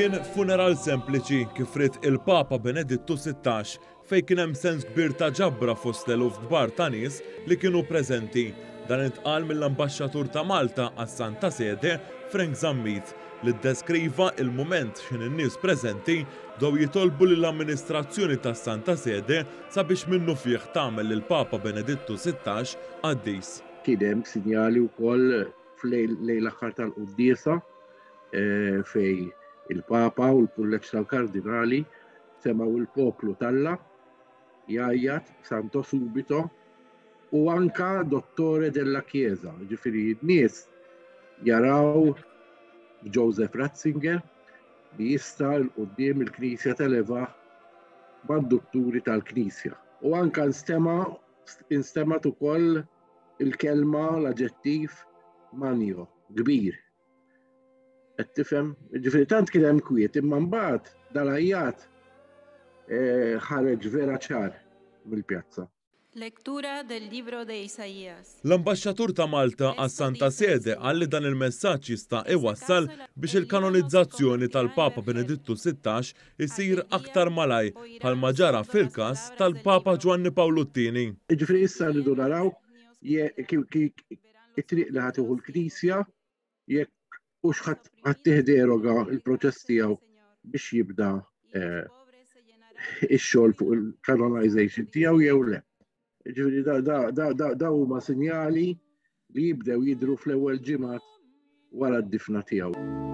Kien funeral sempliċi kif ried il-Papa Benedittu 16 fejn kien hemm sens kbir ta' ġabra fost l-eluf kbar ta' nies li kienu preżenti. Dan intqal mill-Ambaxxatur ta' Malta għas-Santa Sede, Frank Zammit, li ddeskriva il-mument x'ħin in-nies preżenti bdew jitolbu lill-amministrazzjoni tas-Santa Sede sabiex minnufih tagħmel lill-Papa Benedittu 16 qaddis. Kien hemm sinjali wkoll f'lejl l-aħħar tal-quddiesa eh, fej il-Papa u l-Kulleġġ tal-Kardinali semgħu il-poplu t'Alla jgħajjat Santo Subito u anka Dottore della Chiesa, ġifieri n-nies jaraw Joseph Ratzinger li jista' 'l quddiem il-Knisja televa mad-dutturi tal-Knisja. U anka nstema' instemgħet ukoll il-kelma l-aġġettiv magno, kbir. Qed tifhem? Ġifieri tant kien hemm kwiet, imma mbagħad dal-għajjat eh, ħareġ vera ċar mill-pjazza. Lectura del libro de Isaías. L-Ambaxxatur ta' Malta għas-Santa Sede qal li dan il-messaġġ jista' iwassal biex il-kanonizzazzjoni tal-Papa Benedittu 16 isir aktar malajr bħalma ġara fil-każ tal-Papa Ġwanni Pawlu t-Tieni. Jiġifieri issa rridu naraw it-triq li ħa tieħu l-Knisja jekk hux ħa ttih deroga il-proċess tiegħu biex jibda eh, ix-xogħol fuq il-canonization tiegħu jew le. Ġifieri da huma sinjali li jibdew jidhru fl-ewwel ġimgħat wara d-difna tiegħu.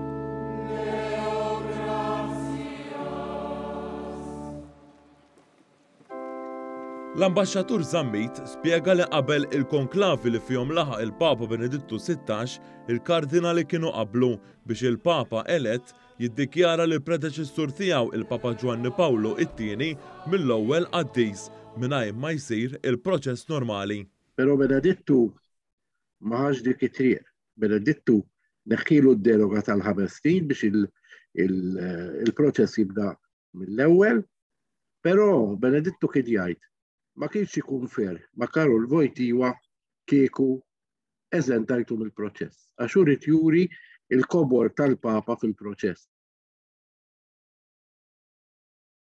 L-Ambaxxatur Zammit spjega li qabel il-konklavi li fihom laħaq il-Papa Benedittu 16, il-kardinali kienu qablu biex il-Papa elett jiddikjara lill-predeċessur tiegħu il-Papa Ġwanni Pawlu it-Tieni mill-ewwel qaddis mingħajr ma jsir il-proċess normali. Però Benedittu ma ħax dik it-triq. Benedittu neħħilu d-deroga tal-ħames snin biex il-proċess jibda mill-ewwel, però Benedittu kien jgħid ma kienx ikun fair ma' Karol Wojtyła kieku eżentajtu mill-proċess, għax hu ried juri l-kobor tal-Papa fil-proċess.